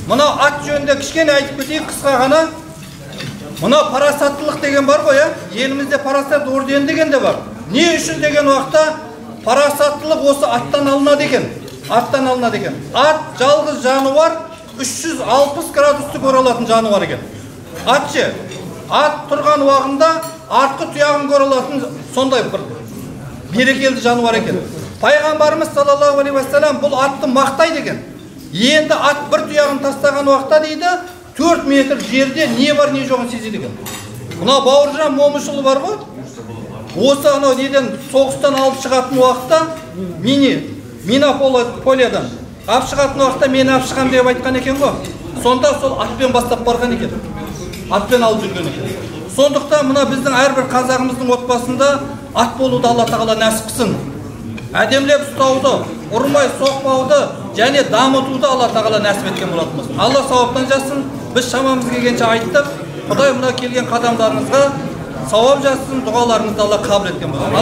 Мына ат жөнүндө кичкене айтып кетейин кыска гана. Мына парасаттылык деген бар го, я? Элимизде парасат ордени деген де бар. Не үчүн деген убакта парасаттылык осы аттан алынат экен. Аттан алынат экен. Ат жалгыз жаныбар 360 градусту көрө алатын жаныбар экен. Атчы ат турган убагында аркы туягын көрө алатын сондай бир берекелди жаныбар экен. Пайгамбарыбыз саллаллаху алейхи ва саллям бул атты мактай деген. Енді ат бір туягын тастаған уақытта дейді 4 метр жерде не бар не жоғын сезеді екен. Мына Бауыржан Момышұлы бар ғой. Осы анау неден соғыстан алып шығатын уақытта Минополиядан алып шығатын уақытта мені алып шығам деп айтқан екен ғой. Сонда сол атпен бастап барған екен. Атпен алып жүрген екен. Сондықтан мына біздің әрбір қазағымыздың отбасында ат болуды Алла тағала нәсіп қылсын. Әдемлеп ұстауды, ұрмай соқпауды және дамытуды Алла тағала нәсіп еткен болатынбыз. Алла сауаптан жазсын. Біз шамамыз келгенше айттық. Құдай мына келген қадамдарыңызға сауап жазсын, дұғаларыңызды Алла қабыл еткен болсын.